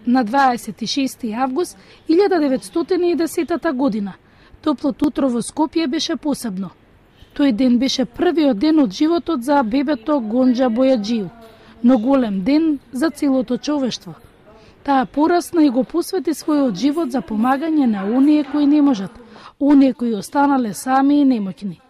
на 26. август 1910 година. Топлото утро во Скопје беше посебно. Тој ден беше првиот ден од животот за бебето Гонџа Бојаджију, но голем ден за целото човештво. Таа порасна и го посвети својот живот за помагање на оние кои не можат, оние кои останале сами и немоќни.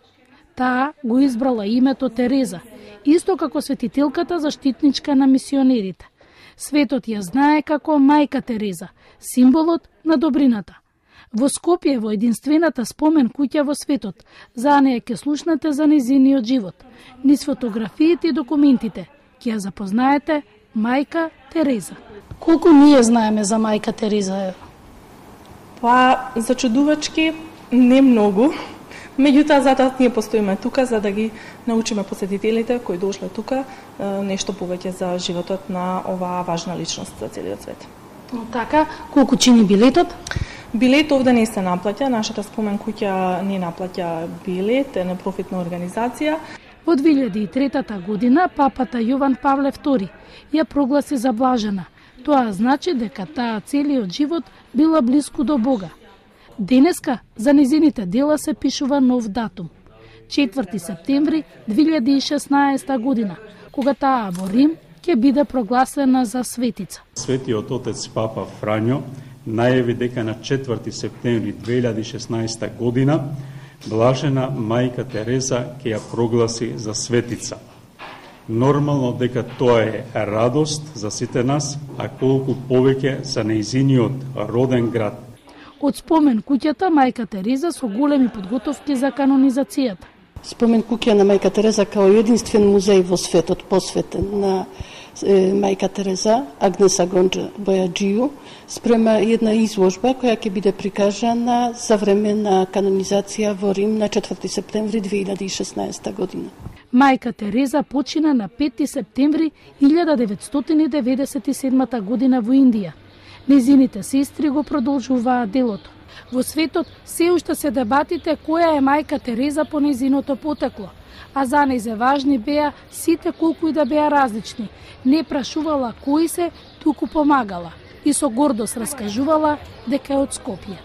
Таа го избрала името Тереза, исто како светителката заштитничка на мисионерите. Светот ја знае како мајка Тереза, символот на добрината. Во Скопје, во единствената спомен куќа во светот, за неја ќе слушнете за нејзиниот живот. Низ фотографиите и документите ќе ја запознаете мајка Тереза. Колку ние знаеме за мајка Тереза? Па, зачудувачки, не многу. Меѓутоа, затоа ние постоиме тука за да ги научиме посетителите кои дошле тука нешто повеќе за животот на оваа важна личност за целиот свет. Така, колку чини билетот? Билет овде не се наплаќа, нашата спомен куќа не наплаќа билет, е непрофитна организација. Во 2003 година папата Јован Павле II ја прогласи за блажена. Тоа значи дека таа целиот живот била блиску до Бога. Денеска за незините дела се пишува нов датум. 4 септември 2016 година, кога таа во Рим ќе биде прогласена за светица. Светиот отец Папа Фрањо најави дека на 4 септември 2016 година блажена мајка Тереза ќе ја прогласи за светица. Нормално дека тоа е радост за сите нас, а колку повеќе за нејзиниот роден град. Од спомен куќата мајка Тереза со големи подготовки за канонизацијата. Спомен куќа на мајка Тереза као единствен музеј во светот посветен на мајка Тереза, Агнеса Гонџа Бојаджију, спрема една изложба која ќе биде прикажана за време на канонизација во Рим на 4 септември 2016 година. Мајка Тереза почина на 5 септември 1997 година во Индија. Незините сестри го продолжуваат делото. Во светот се уште се дебатите која е мајка Тереза по незиното потекло, а за неј важни беа сите колку и да беа различни. Не прашувала кои се, туку помагала и со гордост раскажувала дека е од Скопје.